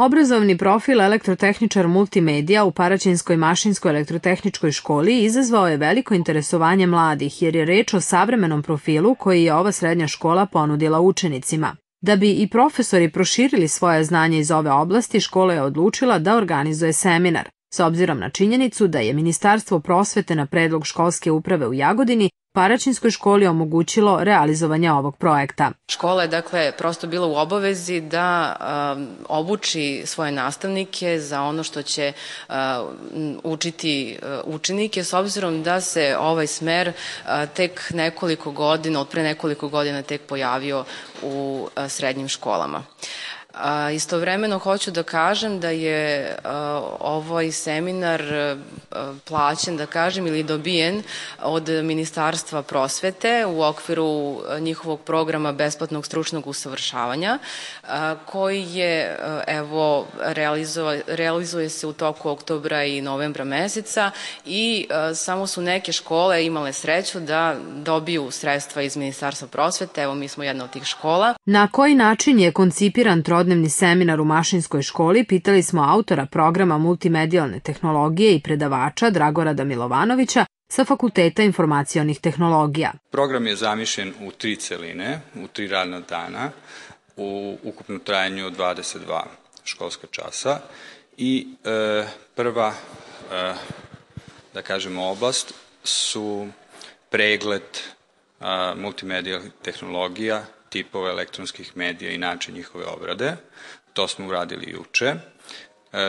Obrazovni profil elektrotehničar multimedija u Paraćinskoj mašinskoj elektrotehničkoj školi izazvao je veliko interesovanje mladih jer je reč o savremenom profilu koji je ova srednja škola ponudila učenicima. Da bi i profesori proširili svoje znanje iz ove oblasti, škola je odlučila da organizuje seminar. S obzirom na činjenicu da je Ministarstvo prosvete na predlog školske uprave u Jagodini Paraćinskoj školi omogućilo realizovanje ovog projekta. Škola je dakle prosto bila u obavezi da obuči svoje nastavnike za ono što će učiti učenike, s obzirom da se ovaj smer tek nekoliko godina, od pre nekoliko godina tek pojavio u srednjim školama. Istovremeno hoću da kažem da je ovaj seminar plaćen, da kažem, ili dobijen od Ministarstva prosvete u okviru njihovog programa besplatnog stručnog usavršavanja, koji je, evo, realizuje se u toku oktobra i novembra meseca i samo su neke škole imale sreću da dobiju sredstva iz Ministarstva prosvete. Evo, mi smo jedna od tih škola. Na koji način je koncipiran trodnevni seminar u Mašinskoj školi, pitali smo autora programa multimedijalne tehnologije i predavača Dragorada Milovanovića sa Fakulteta informacionih tehnologija. Program je zamišljen u 3 celine, u 3 radna dana, u ukupnom trajanju 22 školska časa i prva, da kažemo, oblast su pregled multimedijalnih tehnologija, tipova elektronskih medija i način njihove obrade. To smo uradili juče.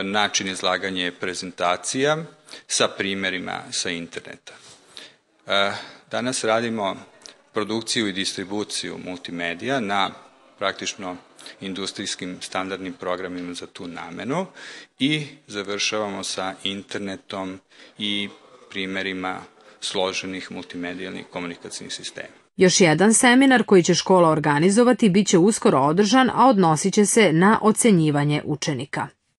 Način izlaganja je prezentacija sa primerima sa interneta. Danas radimo produkciju i distribuciju multimedija na praktično industrijskim standardnim programima za tu namenu i završavamo sa internetom i primerima složenih multimedijalnih komunikacijnih sistema. Još jedan seminar koji će škola organizovati biće uskoro održan, a odnosit će se na ocenjivanje učenika.